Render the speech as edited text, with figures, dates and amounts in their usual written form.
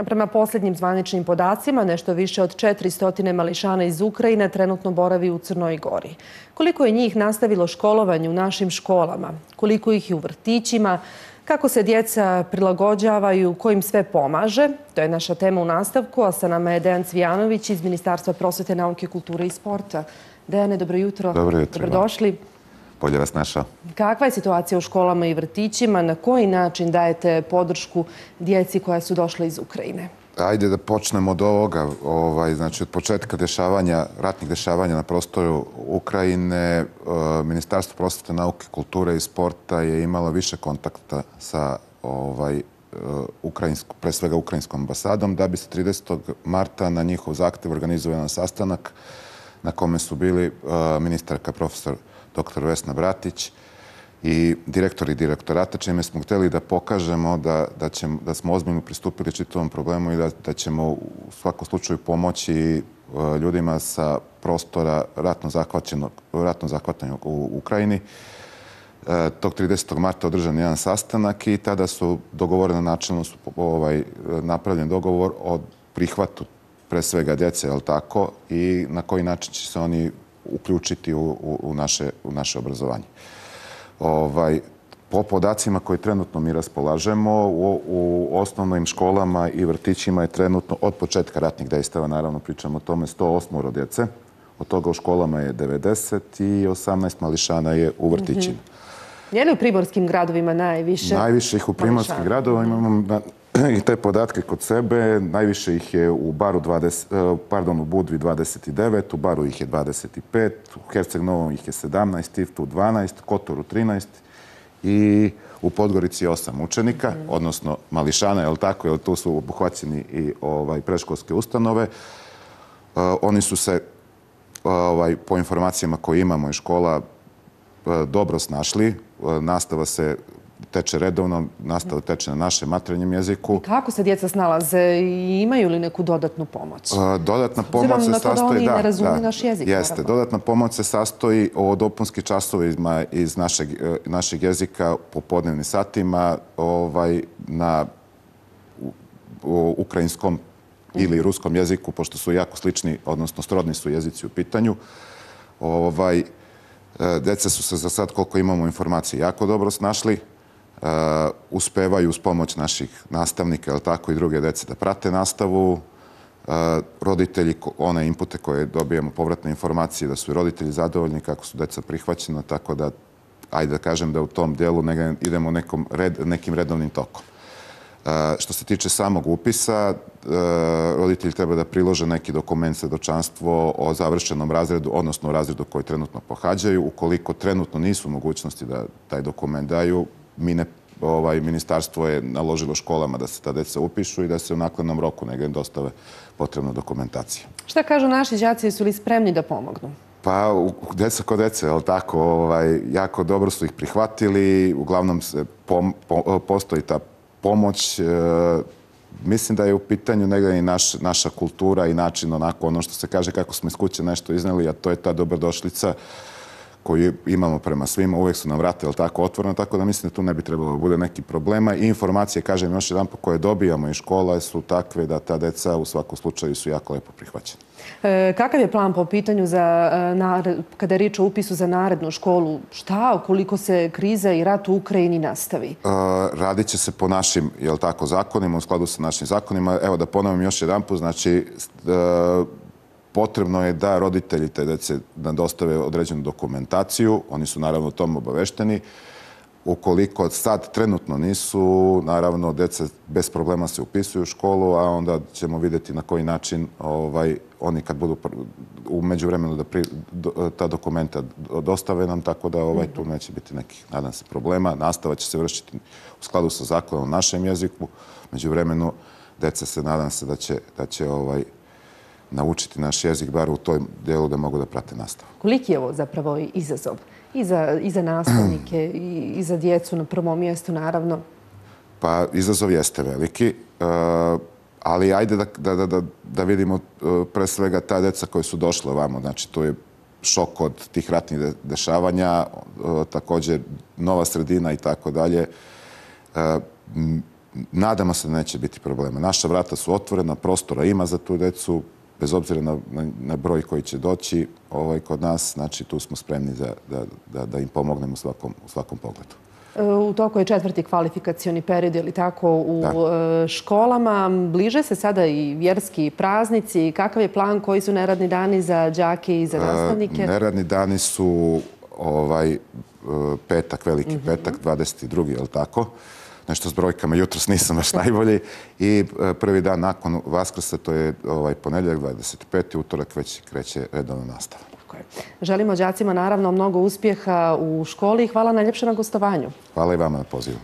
Prema posljednjim zvaničnim podacima, nešto više od 400 mališana iz Ukrajine trenutno boravi u Crnoj Gori. Koliko je njih nastavilo školovanje u našim školama? Koliko ih je u vrtićima? Kako se djeca prilagođavaju? Ko im sve pomaže? To je naša tema u nastavku, a sa nama je Dejan Cvijanović iz Ministarstva prosvete, nauke, kulture i sporta. Dejane, dobro jutro. Dobro jutro. Dobrodošli. Bolje vas našao. Kakva je situacija u školama i vrtićima? Na koji način dajete podršku djeci koja su došla iz Ukrajine? Ajde da počnemo od ovoga. Znači, od početka ratnih dešavanja na prostoru Ukrajine, Ministarstvo prosvete, nauke, kulture i sporta je imalo više kontakta sa pre svega ukrajinskom ambasadom, da bi se 30. marta na njihov zahtjev organizovao jedan sastanak na kome su bili ministarka profesor dr. Vesna Bratić i direktori direktorata, čime smo htjeli da pokažemo da smo ozbiljno pristupili čitavom problemu i da ćemo u svakom slučaju pomoći ljudima sa prostora ratno zahvaćenog u Ukrajini. Tog 30. marta održan jedan sastanak i tada su dogovoreno načelno napravljen dogovor o prihvatu pre svega djece, jel tako, i na koji način će se oni uključiti u naše obrazovanje. Po podacima koji trenutno mi raspolažemo, u osnovnim školama i vrtićima je trenutno od početka ratnih dejstava, naravno pričamo o tome, 108 djece. Od toga u školama je 90 i 18 mališana je u vrtićima. Je li u primorskim gradovima najviše? Najviše ih u primorskim gradovima imamo i te podatke kod sebe. Najviše ih je u Budvi 29, u Baru ih je 25, u Herceg Novom ih je 17, Tivtu 12, Kotoru 13 i u Podgorici 8 učenika, odnosno mališana, je li tako, jer tu su obuhvaćeni i predškolske ustanove. Oni su se, po informacijama koje imamo iz škola, dobro snašli. Nastava se teče redovno, nastava teče na našem materinjem jeziku. Kako se djeca snalaze i imaju li neku dodatnu pomoć? Dodatna pomoć se sastoji... da oni ne razumiju naš jezik. Jeste. Dodatna pomoć se sastoji o dopunski časovima iz našeg jezika po podnevnim satima na ukrajinskom ili ruskom jeziku, pošto su jako slični, odnosno srodni su jezici u pitanju. Djeca su se za sad, koliko imamo informacije, jako dobro snašli. Uspevaju uz pomoć naših nastavnika, ali tako i druge djece da prate nastavu. Roditelji, one inpute koje dobijemo, povratne informacije, da su i roditelji zadovoljni kako su djeca prihvaćena, tako da, ajde da kažem da u tom dijelu idemo nekim redovnim tokom. Što se tiče samog upisa, roditelji treba da prilože neki dokument, svjedočanstvo o završenom razredu, odnosno o razredu koji trenutno pohađaju. Ukoliko trenutno nisu mogućnosti da taj dokument daju, ministarstvo je naložilo školama da se ta djeca upišu i da se u naknadnom roku negdje dostave potrebna dokumentacija. Šta kažu naši đaci, su li spremni da pomognu? Pa, djeca kod djece, ali tako, jako dobro su ih prihvatili, uglavnom postoji ta pomoć. Mislim da je u pitanju negdje i naša kultura i način, onako, ono što se kaže kako smo iz kuće nešto izneli, a to je ta dobrodošlica koju imamo prema svima. Uvijek su nam vrata, tako, otvorena, tako da mislim da tu ne bi trebalo da bude nekih problema. I informacije, kažem još jedan po koje dobijamo iz škola su takve da ta deca u svakom slučaju su jako lepo prihvaćena. Kakav je plan po pitanju kada je riječ o upisu za narednu školu? Šta ukoliko se kriza i rat u Ukrajini nastavi? Radit će se po našim, zakonima, u skladu sa našim zakonima. Evo da ponovim još jedan put, znači potrebno je da roditelji te djece dostave određenu dokumentaciju. Oni su naravno o tom obavešteni. Ukoliko sad trenutno nisu, naravno djeca bez problema se upisuju u školu, a onda ćemo vidjeti na koji način oni kad budu u međuvremenu da ta dokumenta dostave nam, tako da tu neće biti nekih, nadam se, problema. Nastava će se vršiti u skladu sa zakonom u našem jeziku. Međuvremenu djeca se, nadam se, da će naučiti naš jezik, bar u tom dijelu da mogu da prate nastavu. Koliki je ovo zapravo izazov? I za nastavnike, i za djecu na prvom mjestu, naravno? Pa, izazov jeste veliki, ali ajde da vidimo pre svega ta djeca koja su došla ovamo. Znači, to je šok od tih ratnih dešavanja, također nova sredina i tako dalje. nadamo se da neće biti problema. Naša vrata su otvorena, prostora ima za tu decu, bez obzira na broj koji će doći kod nas, znači tu smo spremni da im pomognemo u svakom pogledu. U toku je 4. kvalifikacioni period, je li tako, u školama. Bliže se sada i vjerski praznici. Kakav je plan, koji su neradni dani za đake i za nastavnike? Neradni dani su petak, veliki petak, 22. je li tako? Nešto s brojkama, jutros nisam baš najbolji. I prvi dan nakon Vaskrsa, to je ponedjeljak, 25. utorak, već kreće redovna nastava. Želimo đacima naravno mnogo uspjeha u školi i hvala najljepše na gostovanju. Hvala i vama na pozivu.